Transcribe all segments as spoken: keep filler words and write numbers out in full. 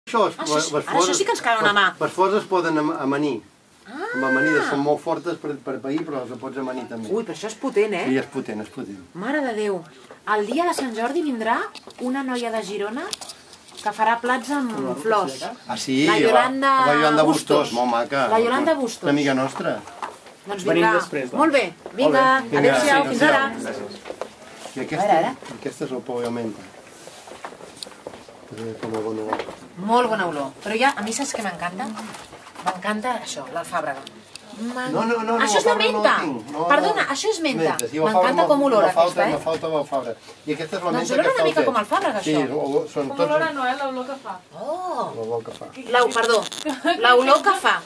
Això sí que ens cau una mà. Les flors es poden amanir. Amb amanides són molt fortes per pair, però les pots amanir també. Ui, però això és potent, eh? Sí, és potent, és potent. Mare de Déu. El dia de Sant Jordi vindrà una noia de Girona que farà plats amb flors. Ah, sí? La Yolanda La Yolanda Bustos, molt maca. La Yolanda Bustos. Una amiga nostra. Doncs vindrà. Molt bé. Vinga, adéu-siau, fins ara. I aquesta és el pou de menta. Molt bona olor. Però ja, a mi saps què m'encanta? M'encanta això, l'alfàbrega. No, no, no. Això és la menta! Perdona, això és menta. M'encanta com olor aquesta, eh? No falta l'alfàbrega. I aquesta és la menta que doncs olora una mica com alfàbrega, això. Sí, són tots... Com olora no, eh? L'olor que fa. Oh! L'olor que fa. Perdó, l'olor que fa.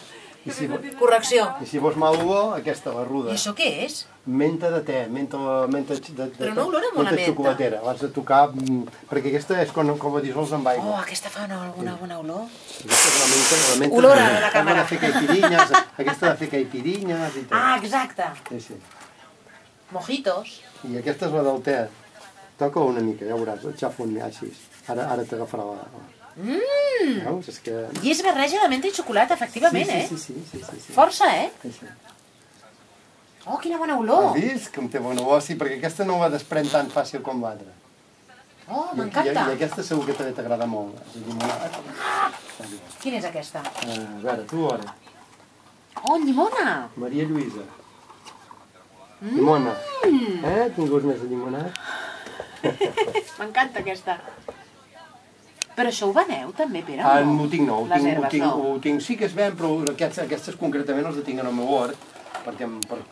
Correcció. I si vols mal olor, aquesta, la ruda. I això què és? Menta de te, menta de... Però no olora molt a menta. Xocolatera, l'has de tocar, perquè aquesta és com ho dissols amb aigua. Oh, aquesta fa una bona olor. Aquesta és la menta, la menta... Olora de la càmera. Aquesta de fer caipirinhas, aquesta de fer caipirinhas i tot. Ah, exacte. Sí, sí. Mojitos. I aquesta és la del te. Toca una mica, ja veuràs, el xafo un així. Ara t'agafarà la... Mmm! Veus? És que... I és barreja de menta i xocolata, efectivament, eh? Sí, sí, sí, sí. Força, eh? Sí, sí. Oh, quina bona olor! Has vist com té bona olor? Sí, perquè aquesta no la desprèn tan fàcil com l'altra. Oh, m'encanta! I aquesta segur que també t'agrada molt. Quina és aquesta? A veure, tu ara. Oh, llimona! Maria Lluïsa. Llimona. Eh? Tinguts més de llimonat? M'encanta aquesta. Però això ho veneu també, Pere? Ah, no ho tinc, no. Les herbes, no. Ho tinc, sí que es ven, però aquestes concretament els tinc en el meu hort,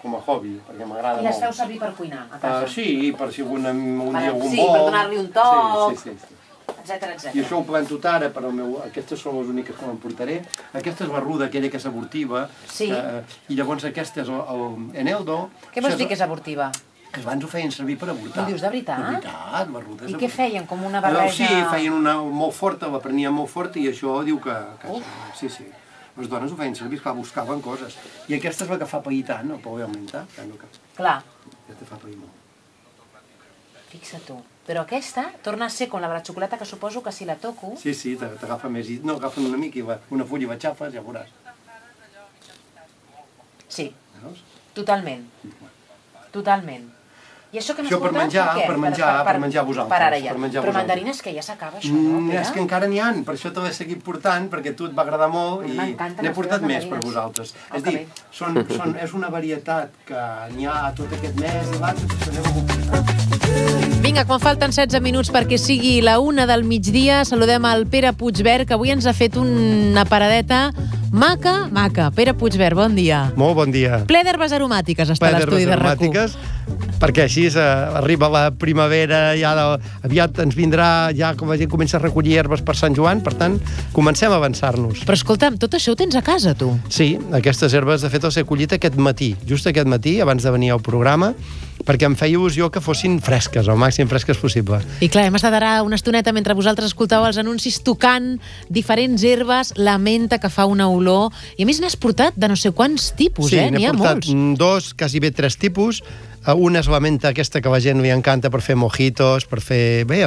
com a hobby, perquè m'agrada molt. I les feu servir per cuinar, a casa? Sí, per si un dia algun vol. Sí, per donar-li un toc, sí, sí, sí. etcètera, etcètera. I això ho planto ara, però aquestes són les úniques que m'emportaré. Aquesta és la ruda, aquella que és abortiva. Sí. I llavors aquesta és el eneldo. Què vols dir que és abortiva? Que abans ho feien servir per avortar. Ho dius de veritat? De veritat, la ruda és I què feien, com una barreja? Sí, feien una molt forta, la prenien molt forta i això diu que... Sí, sí. Les dones ho feien servir, clar, buscaven coses. I aquesta és la que fa pair tant, el pou de menta. Clar. Aquesta fa pair molt. Fixa tu. Però aquesta torna a ser com la de la xocolata, que suposo que si la toco... Sí, sí, t'agafa més. No, agafen una mica i una fulla i la xafes, ja veuràs. Sí, totalment. Totalment. I això que m'has portat, per menjar, per què? Per menjar, per menjar vosaltres. Per ara ja. Però mandarines que ja s'acaba això, no, Pere? És que encara n'hi ha, per això te l'he seguit portant, perquè a tu et va agradar molt i n'he portat més per vosaltres. És dir, és una varietat que n'hi ha tot aquest mes i l'altre, que aneu a comprar. Vinga, quan falten setze minuts perquè sigui la una del migdia, saludem al Pere Puigvert, que avui ens ha fet una paradeta maca, maca. Pere Puigvert, bon dia. Molt bon dia. Ple d'herbes aromàtiques està l'estudi de RAC u. Perquè així eh, arriba la primavera, ja de, aviat ens vindrà, ja com la gent comença a recollir herbes per Sant Joan, per tant, comencem a avançar-nos. Però escolta'm, tot això ho tens a casa, tu? Sí, aquestes herbes, de fet, les he collit aquest matí, just aquest matí, abans de venir al programa, perquè em feia il·lusió que fossin fresques, al màxim fresques possible. I clar, hem estat ara una estoneta mentre vosaltres escoltàveu els anuncis tocant diferents herbes, la menta que fa una olor, i a més n'has portat de no sé quants tipus, sí, eh? N'hi ha molts. Sí, n'he portat dos, quasi bé tres tipus. Una és la menta aquesta que a la gent li encanta per fer mojitos, per fer, bé,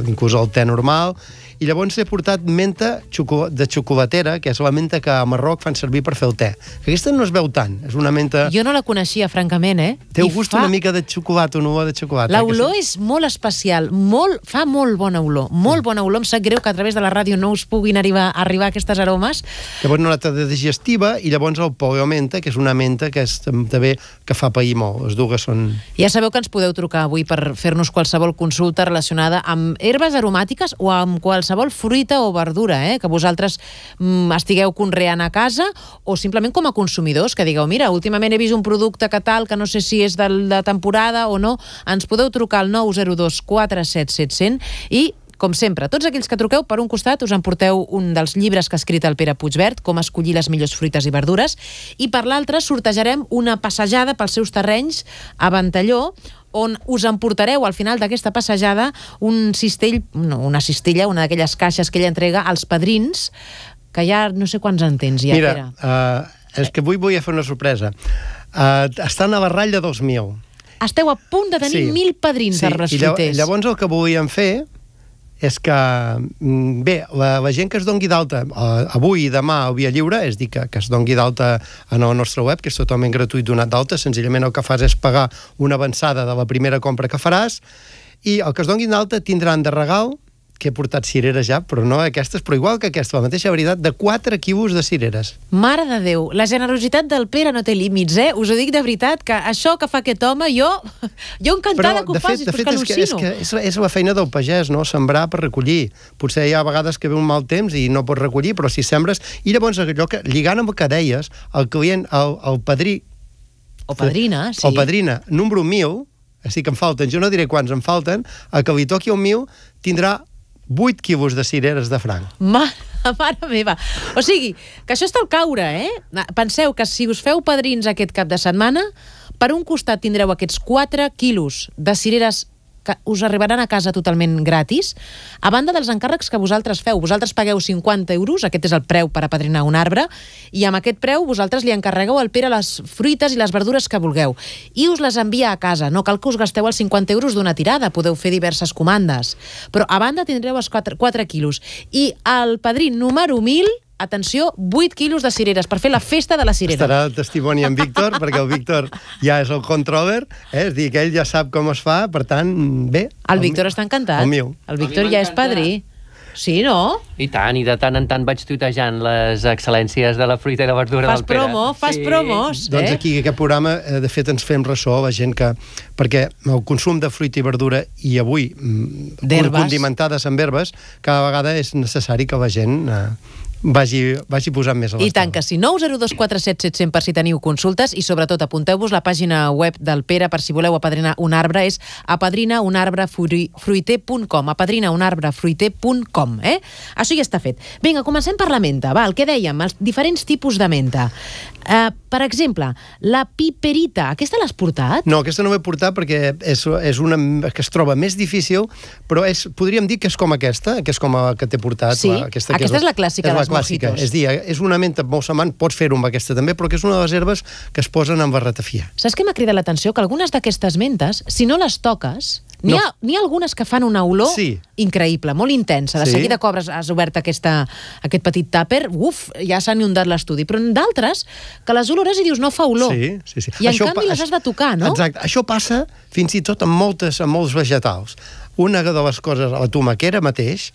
inclús el te normal. I llavors he portat menta de xocolatera, que és la menta que a Marroc fan servir per fer el te. Aquesta no es veu tant, és una menta... Jo no la coneixia, francament, eh? Té un gust una mica de xocolata, una olor de xocolata. L'olor és molt especial, molt, fa molt bona olor, molt bona olor. Em sap greu que a través de la ràdio no us puguin arribar, arribar aquestes aromes. Llavors una altra de digestiva i llavors el pou de menta, que és una menta que és també que fa pair molt. Les dues són... Ja sabeu que ens podeu trucar avui per fer-nos qualsevol consulta relacionada amb herbes aromàtiques o amb qualsevol fruita o verdura, eh? Que vosaltres mm, estigueu conreant a casa o simplement com a consumidors, que digueu, mira, últimament he vist un producte que tal, que no sé si és de la temporada o no, ens podeu trucar al nou zero dos quatre set set zero zero i com sempre, tots aquells que truqueu, per un costat us emporteu un dels llibres que ha escrit el Pere Puigvert, com escollir les millors fruites i verdures, i per l'altre sortejarem una passejada pels seus terrenys a Ventalló, on us emportareu al final d'aquesta passejada un cistell, no, una cistella, una d'aquelles caixes que ella entrega als padrins, que ja no sé quants en tens ja, Mira, Pere. Uh, és que avui vull fer una sorpresa. Uh, estan a la ratlla dels mil. Esteu a punt de tenir sí. mil padrins sí. d'arbres fruiters. I llavors el que volíem fer és que, bé, la, la gent que es dongui d'alta eh, avui i demà al Via Lliure, és dir, que, que es dongui d'alta en el nostre web, que és totalment gratuït donat d'alta, senzillament el que fas és pagar una avançada de la primera compra que faràs, i el que es donguin d'alta tindran de regal, que he portat cireres ja, però no aquestes, però igual que aquesta, la mateixa veritat, de quatre quilos de cireres. Mare de Déu, la generositat del Pere no té límits, eh? Us ho dic de veritat, que això que fa aquest home, jo, jo encantada que ho facis, però és que al·lucino. És, que és, és la feina del pagès, no? Sembrar per recollir. Potser hi ha vegades que ve un mal temps i no pots recollir, però si sembres... I llavors, allò que, lligant amb el que deies, el client, el, el padrí... O padrina, sí. O padrina, número mil, així que em falten, jo no diré quants em falten, el que li toqui el mil tindrà vuit quilos de cireres de franc. Mare, mare meva. O sigui, que això està al caure, eh? Penseu que si us feu padrins aquest cap de setmana, per un costat tindreu aquests quatre quilos de cireres que us arribaran a casa totalment gratis, a banda dels encàrrecs que vosaltres feu. Vosaltres pagueu cinquanta euros, aquest és el preu per apadrinar un arbre, i amb aquest preu vosaltres li encarregueu al Pere les fruites i les verdures que vulgueu, i us les envia a casa. No cal que us gasteu els cinquanta euros d'una tirada, podeu fer diverses comandes. Però a banda tindreu els quatre quilos. I el padrí número mil... atenció, vuit quilos de cireres per fer la festa de la cirera. Estarà el testimoni en Víctor, perquè el Víctor ja és el controller, eh? És dir, que ell ja sap com es fa, per tant, bé. El, el Víctor està encantat. El meu. El Víctor ja és padrí. Sí, no? I tant, i de tant en tant vaig tuitejant les excel·lències de la fruita i la verdura fas del Pere. Promo, fas sí. promos, eh? Doncs aquí, aquest programa, de fet, ens fem ressò a la gent que... Perquè el consum de fruita i verdura, i avui, condimentades amb herbes, cada vegada és necessari que la gent... Eh, Vagi, vagi posant més a l'estona. I tant que sí. nou zero dos quatre set set cents per si teniu consultes, i sobretot apunteu-vos la pàgina web del Pere per si voleu apadrinar un arbre, és apadrinaunarbefruiter punt com, apadrinaunarbefruiter punt com, eh? Això ja està fet. Vinga, comencem per la menta, va, el que dèiem, els diferents tipus de menta. Uh, per exemple, la piperita, aquesta l'has portat? No, aquesta no l'he portat perquè és, és una que es troba més difícil, però és, podríem dir que és com aquesta, que és com la que t'he portat. Sí, la, aquesta, aquesta és, és la clàssica és dels la clàssica. mojitos. És dir, és una menta molt semblant, pots fer-ho amb aquesta també, però que és una de les herbes que es posen amb la ratafia. Saps què m'ha cridat l'atenció? Que algunes d'aquestes mentes, si no les toques, n'hi ha, n'hi ha algunes que fan una olor sí. increïble, molt intensa. De sí. seguida cobres, has obert aquesta, aquest petit tàper, uf, ja s'ha inundat l'estudi. Però d'altres, que les olores i dius, no fa olor. Sí, sí, sí. I en això canvi les has de tocar, no? Exacte. Això passa fins i tot amb, moltes, amb molts vegetals. Una de les coses, la tomaquera mateix,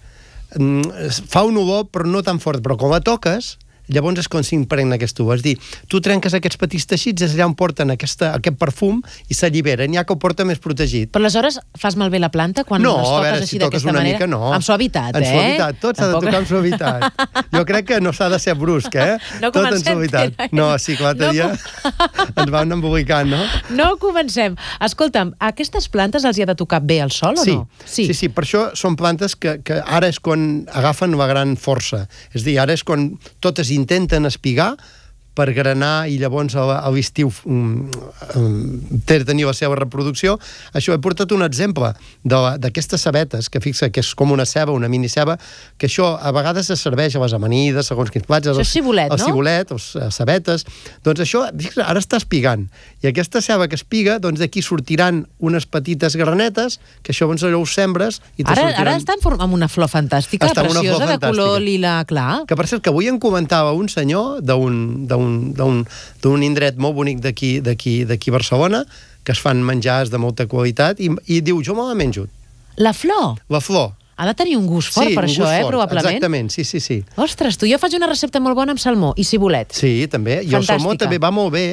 fa un olor però no tan fort, però quan la toques, llavors és com s'impregna aquesta olor. És dir, tu trenques aquests petits teixits, és allà on porten aquesta, aquest perfum i s'alliberen, ja que ho porta més protegit. Però aleshores fas malbé la planta quan no, les toques veure, així si d'aquesta manera? Mica, no. Amb suavitat, en eh? En suavitat, tot s'ha Tampoc... de tocar amb suavitat. Jo crec que no s'ha de ser brusc, eh? No tot comencem, en suavitat. Pere. No, sí, que l'altre No dia ens van embolicant, no? No comencem. Escolta'm, aquestes plantes els hi ha de tocar bé el sol sí. o no? Sí, sí, sí, per això són plantes que, que ara és quan agafen la gran força. És dir, ara és quan totes intenten espigar per granar i llavors a l'estiu um, um, tenir la seva reproducció. Això, he portat un exemple d'aquestes cebetes, que fixa que és com una ceba, una miniceba, que això a vegades es serveix a les amanides, segons quins plats. Això és cibulet, el no? El cibulet, les cebetes. Doncs això, fixa, ara està espigant. I aquesta ceba que espiga, doncs d'aquí sortiran unes petites granetes, que això doncs allò ho sembres i te ara, sortiran... Ara està en forma, amb una flor fantàstica, està preciosa, flor de color fantàstica. lila clar. Que per cert, que avui em comentava un senyor d'un d'un indret molt bonic d'aquí d'aquí d'aquí Barcelona, que es fan menjars de molta qualitat, i, i diu, jo me la menjo. La flor? La flor. Ha de tenir un gust fort sí, per això, eh, fort. probablement. Exactament, sí, sí, sí. Ostres, tu, jo faig una recepta molt bona amb salmó i cibulet. Sí, també. I el salmó també va molt bé,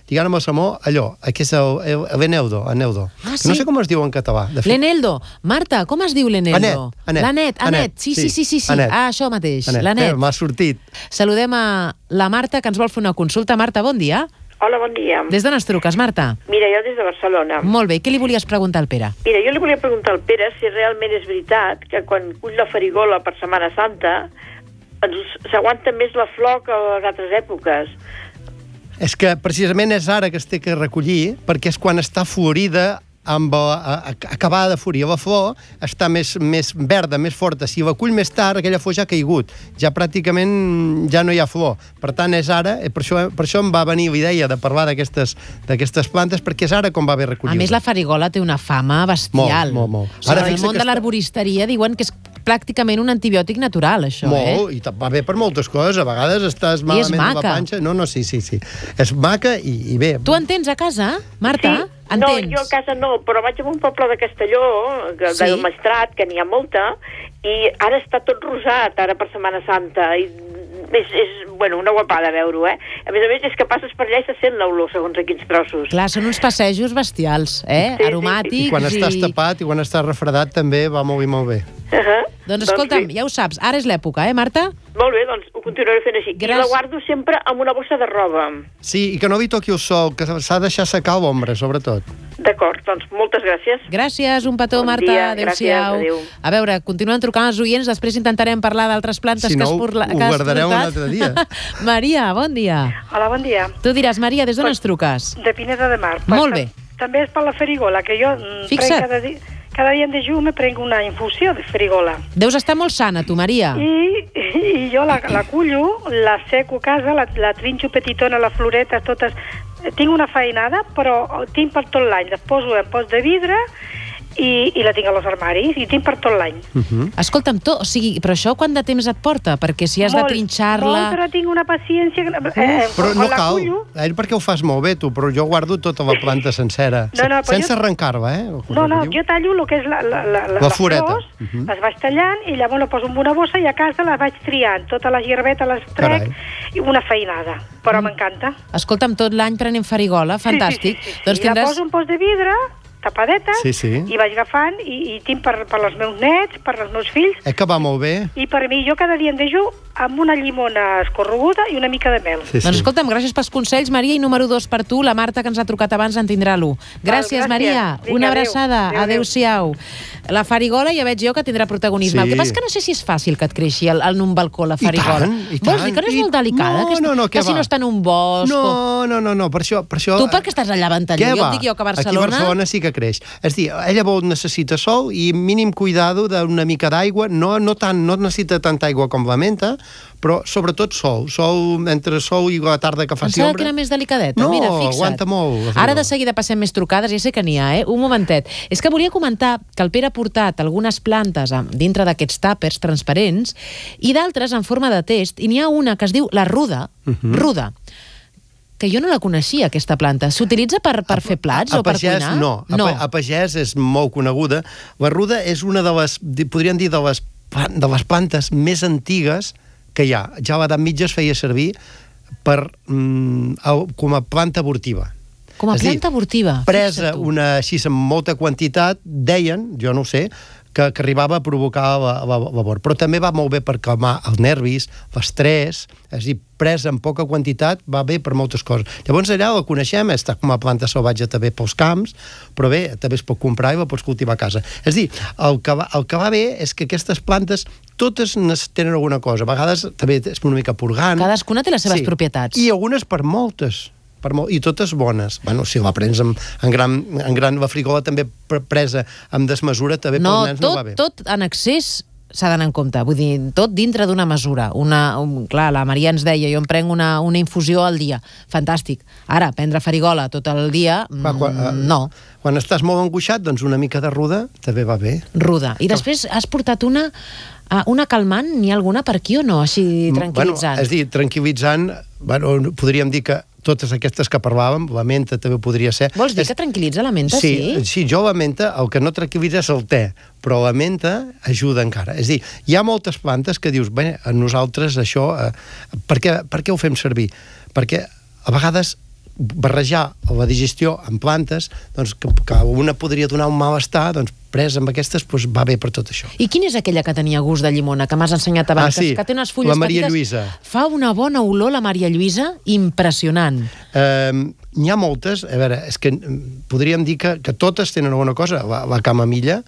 diguem amb el salmó, allò, que és el, el, l'eneldo, eneldo. Ah, sí? No sé com es diu en català. L'eneldo. Marta, com es diu l'eneldo? Anet, Anet. L'Anet, Anet. Sí, sí, sí, sí, sí. Anet. Ah, això mateix, Anet. l'Anet. Eh, m'ha sortit. Saludem a la Marta, que ens vol fer una consulta. Marta, bon dia. Hola, bon dia. Des d'on es truques, Marta? Mira, jo des de Barcelona. Molt bé, què li volies preguntar al Pere? Mira, jo li volia preguntar al Pere si realment és veritat que quan cull la farigola per Setmana Santa s'aguanta més la flor que a les altres èpoques. És que precisament és ara que es té que recollir, perquè és quan està florida, amb a, a, acabada de florir la flor, està més, més verda, més forta. Si la cull més tard, aquella flor ja ha caigut. Ja pràcticament ja no hi ha flor. Per tant, és ara, per això, per això em va venir la idea de parlar d'aquestes d'aquestes plantes, perquè és ara com va bé recollir-les. A més, la farigola té una fama bestial. Molt, molt, molt. Ara, en el món de l'arboristeria diuen que és pràcticament un antibiòtic natural, això, Molt, eh? Molt, i va bé per moltes coses. A vegades estàs malament de la panxa. No, no, sí, sí, sí. És maca i, i bé. Tu en tens a casa, Marta? Sí. En no, tens? jo a casa no, però vaig a un poble de Castelló, de, Sí? del Maestrat, que n'hi ha molta, i ara està tot rosat, ara per Setmana Santa, i és, és bueno, una guapada veure-ho, eh? A més a més, és que passes per allà i se sent l'olor, segons a quins trossos. Clar, són uns passejos bestials, eh? Sí, sí, Aromàtics. I quan estàs tapat i quan estàs refredat també va molt bé, molt bé. Uh -huh. Doncs escolta'm, sí. ja ho saps, ara és l'època, eh, Marta? Molt bé, doncs ho continuaré fent així. Gràcies. I la guardo sempre amb una bossa de roba. Sí, i que no li toqui el sol, que s'ha de deixar secar l'ombra, sobretot. D'acord, doncs moltes gràcies. Gràcies, un petó, Bon Marta. dia, Adéu-siau. gràcies, adéu. A veure, continuen trucant els oients, després intentarem parlar d'altres plantes Si que no, has, porla, ho que has guardareu un portat. altre dia. Maria, bon dia. Hola, bon dia. Tu diràs, Maria, des d'on ens truques? De Pineda de Mar. Molt Pues, bé. També és per la farigola, que jo mm, Fixa't. prenc cada dia, cada dia en dejú me prenc una infusió de farigola. Deus estar molt sana, tu, Maria. I, i jo la, la cullo, la seco a casa, la, la trinxo petitona, les floretes, totes. Tinc una feinada, però tinc per tot l'any. Les poso en pots de vidre i, i la tinc als armaris i tinc per tot l'any. Uh -huh. Escolta'm, to, o sigui, però això quant de temps et porta? Perquè si has Molt, de trinxar-la... Molt, però tinc una paciència... Eh, Però quan no la cal, cullo- eh, perquè ho fas molt bé, tu, però jo guardo tota la planta sencera, No, no, però sense jo- arrencar-la, eh? No, no, jo tallo el que és la, la, la, La floreta. flors, Uh -huh. les vaig tallant i llavors la poso en una bossa i a casa les vaig triant. Totes les hierbetes les trec, Carai. i una feinada. Però mm. m'encanta. Escolta'm, tot l'any prenent farigola, fantàstic. Sí, sí, sí, sí. Doncs I la tindràs... poso en pols de vidre, tapadeta, Sí, sí. i vaig agafant, i, i tinc per, per els meus nets, per els meus fills, Eh que va molt bé? i per mi, jo cada dia en dejú amb una llimona escorreguda i una mica de mel. Sí, Doncs escolta'm, gràcies pels consells, Maria, i número dos per tu, la Marta, que ens ha trucat abans, en tindrà l'u. Gràcies, gràcies. Maria. Vinga, Una adéu. abraçada. Adéu, adéu. Adéu-siau. La farigola ja veig jo que tindrà protagonisme. Sí. El que passa és que no sé si és fàcil que et creixi el, en un balcó la I farigola. tant, i Vols dir tant. que no és I- molt delicada? No, que, és, no, no, que què si va? no està en un bosc... o- No, no, no, no, per això... Per això Tu perquè estàs allà a Ventalló, Què jo va? et dic jo que a Barcelona... Aquí a Barcelona sí que creix. És a dir, ella vol, necessita sol i mínim cuidado d'una mica d'aigua, no, no, tant, no necessita tanta aigua com la menta, però sobretot sol. Sol, entre sol i la tarda que faci Pensava ombra. que era més delicadeta. No, Mira, fixa't. aguanta molt, la Ara farigola. de seguida passem més trucades, ja sé que n'hi ha, eh? Un momentet. És que volia comentar que el Pere ha portat algunes plantes a- dintre d'aquests tàpers transparents i d'altres en forma de test, i n'hi ha una que es diu la ruda, Uh -huh. ruda, que jo no la coneixia, aquesta planta. S'utilitza per, per fer plats a o per pagès, cuinar? No, a, no. pa- a pagès és molt coneguda. La ruda és una de les, di- podríem dir, de les, plan- de les plantes més antigues que hi ha. Ja a l'edat mitja es feia servir per, mm, au- com a planta abortiva. Com a És a dir, planta abortiva. Presa fixa't tu. una, així amb molta quantitat, deien, jo no ho sé, que, que arribava a provocar la, la, la mort. Però també va molt bé per calmar els nervis, l'estrès, és a dir, presa en poca quantitat va bé per moltes coses. Llavors allà la coneixem, està com a planta salvatge també pels camps, però bé, també es pot comprar i la pots cultivar a casa. És a dir, el que va, el que va bé és que aquestes plantes totes tenen alguna cosa. A vegades també és una mica purgant. Cadascuna té les seves propietats. I algunes per moltes. Per molt, i totes bones. Bueno, si la prens en, en, gran, en gran, la frigola també pre- presa amb desmesura, també No, pels nens tot, no va bé. tot en excés s'ha d'anar en compte, vull dir, tot dintre d'una mesura. Una, un, clar, la Maria ens deia, jo em prenc una, una infusió al dia. Fantàstic. Ara, prendre farigola tot el dia, Va, quan, mm, eh, no. Quan estàs molt angoixat, doncs una mica de ruda també va bé. Ruda. I després has portat una, uh, una calmant, n'hi ha alguna per aquí o no? Així tranquil·litzant. Bueno, és a dir, tranquil·litzant, bueno, podríem dir que totes aquestes que parlàvem, la menta també podria ser... Vols dir és... que tranquil·litza la menta, sí? sí? Sí, jo la menta, el que no tranquil·litza és el te, però la menta ajuda encara. És a dir, hi ha moltes plantes que dius, bé, a nosaltres això, eh, per, què, per què ho fem servir? Perquè a vegades barrejar la digestió amb plantes, doncs que, que una podria donar un malestar, doncs presa amb aquestes doncs, va bé per tot això. I quina és aquella que tenia gust de llimona, que m'has ensenyat abans? Ah, sí, que té unes fulles la Maria petites. Lluïsa. Fa una bona olor, la Maria Lluïsa, impressionant. Eh, n'hi ha moltes, a veure, és que mm, podríem dir que, que totes tenen alguna cosa. La, la camamilla,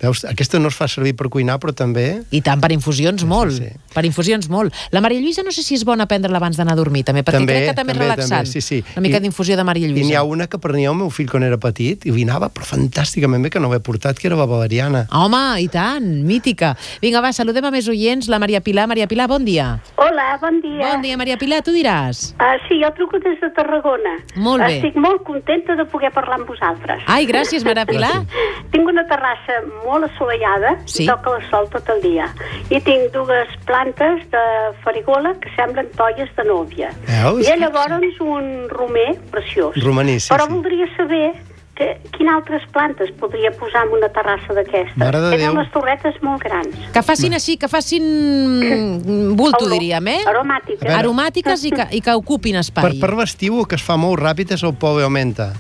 veus, aquesta no es fa servir per cuinar, però també... I tant, per infusions Sí, molt. sí, sí. Per infusions molt. La Maria Lluïsa no sé si és bona prendre-la abans d'anar a dormir, també, perquè També, crec que també, també, és relaxant. també, sí, sí. Una mica I- d'infusió de Maria I n'hi Lluïsa. ha una que prenia el meu fill quan era petit i li anava però fantàsticament bé, que no l'he portat, que era la valeriana. Home, i tant, mítica. Vinga, va, saludem a més oients. La Maria Pilar. Maria Pilar, bon dia. Hola, bon dia. Bon dia, Maria Pilar, tu diràs. Uh, sí, jo truco des de Tarragona. Molt bé. Estic molt contenta de poder parlar amb vosaltres. Ai, gràcies, Maria Pilar. tinc una terrassa molt assolellada, Sí. i toca el sol tot el dia. I tinc dues plantes de farigola que semblen tolles de núvia. Veus? I llavors un romer preciós. Romaní, sí, Però sí. voldria saber que, quines altres plantes podria posar en una terrassa d'aquestes. Mare de Tenen Déu. unes torretes molt grans. Que facin així, que facin bulto, Olor- diríem, eh? Aromàtiques. veure. Aromàtiques i que, i que ocupin espai. Per, per l'estiu, el que es fa molt ràpid és el pove augmenta.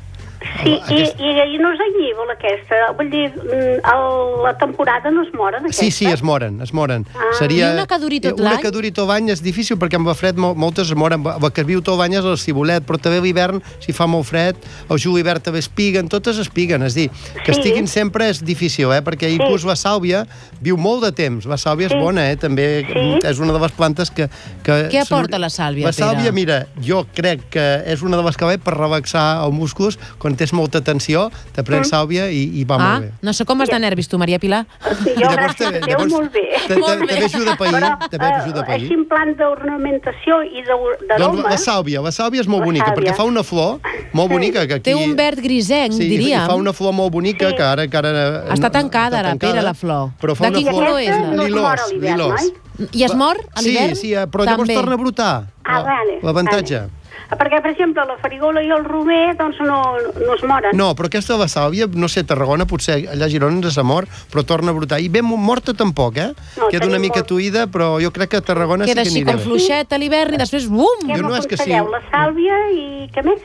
Sí, Aquest- i, i, i no és anyívol aquesta. Vull dir, mm, el, la temporada no es moren, aquesta. Sí, sí, es moren, es moren. Ah. I una que duri tot Una l'any? que duri tot l'any és difícil perquè amb el fred mol, moltes es moren. El que viu tot l'any és el cibulet, però també l'hivern, si fa molt fred, el julivert també espiguen, totes espiguen. És dir, que Sí. estiguin sempre és difícil, eh? Perquè inclús la sàlvia viu molt de temps. La sàlvia Sí. és bona, eh? També Sí. és una de les plantes que... que Què aporta la sàlvia, La sàlvia, Pere? mira, jo crec que és una de les que ve per relaxar els músculs. Quan tens molta tensió, te prens sàlvia i, i va Ah, molt bé. no sé com vas de nervis tu, Maria Pilar. Sí, jo, gràcies a Déu, molt bé. te- te- També ajuda a pair, Però, també ajuda a eh, pair. així en plan d'ornamentació i Doncs d'aroma... la sàlvia, la sàlvia és molt La bonica, sàlvia. perquè fa una flor molt Sí. bonica. Que aquí... Té un verd grisenc, sí, diríem. i fa una flor molt bonica Sí. que ara... Que ara Està tancada, està ara, Pere, la flor. Però fa De una quin flor... color és, la? No es mor a Lilós, l'hivern, lilós. oi? I es mor a l'hivern? Sí, sí, però llavors També. torna a brotar. Ah, vale. L'avantatge. Vale. Perquè, per exemple, la farigola i el romer, doncs, no, no es moren. No, però aquesta de la sàlvia, no sé, a Tarragona, potser allà a Girona ens s'ha mort, però torna a brotar. I ben morta tampoc, eh? No, Queda una tenim mica molt. tuïda, però jo crec que a Tarragona Queda sí que així aniria com bé. fluixet a l'hivern i després, bum! Què Jo no és que sí. m'aconselleu? La sàlvia i què més?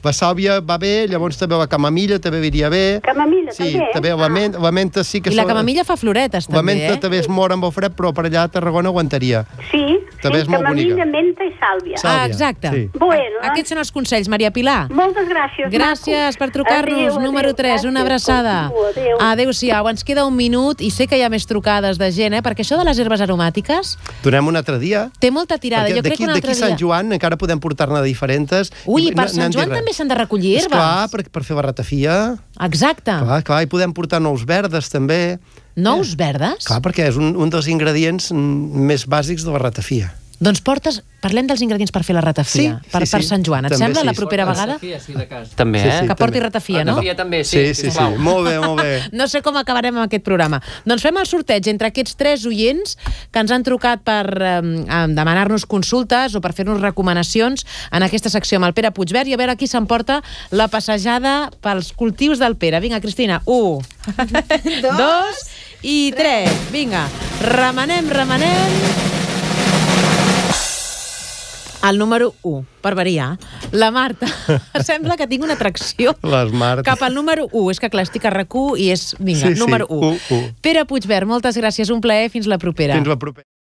La sàlvia va bé, llavors també la camamilla també iria bé. Camamilla, sí, també? també la, men la menta sí que... I la so- camamilla fa floretes, La també, menta eh? també es mor amb el fred, però per allà a Tarragona aguantaria. Sí, També sí, és molt camamilla, bonica. menta i sàlvia. Sàlvia, Ah, exacte. sí. Bueno, Aquests són els consells, Maria Pilar. moltes gràcies, Gràcies macos. per trucar-nos. Adéu, Número adéu, tres, una gràcies. abraçada. Continua, adéu. Adéu-siau. Ens queda un minut i sé que hi ha més trucades de gent, eh? Perquè això de les herbes aromàtiques Donem un altre dia. té molta tirada. Perquè Jo crec que un d'aquí altre Sant dia... Joan encara podem portar-ne diferents. Ui, I per no- Sant n'han dit Joan res. també s'han de recollir herbes. Esclar, per, per fer la ratafia. Exacte. Clar, clar, i podem portar nous verdes també. Nous verdes? Clar, perquè és un, un dels ingredients mm, més bàsics de la ratafia. Doncs portes... Parlem dels ingredients per fer la ratafia, Sí, per, sí, per sí. Sant Joan. Et També sembla sí. la propera vegada? Sí, de cas. També, Sí, eh? sí. Que porti també. ratafia, no? Ratafia també, sí. Sí, sí, sí. sisplau. Molt bé, molt bé. No sé com acabarem amb aquest programa. Doncs fem el sorteig entre aquests tres oients que ens han trucat per eh, demanar-nos consultes o per fer-nos recomanacions en aquesta secció amb el Pere Puigvert i a veure qui s'emporta la passejada pels cultius del Pere. Vinga, Cristina, un, dos, dos i tres. Vinga, remenem, remenem... El número u, per variar. La Marta. Sembla que tinc una atracció Les Marta. cap al número u. És que clar, estic a RAC u i és, vinga, Sí, sí, número u. u, u. Pere Puigvert, moltes gràcies, un plaer, fins la propera. Fins la propera.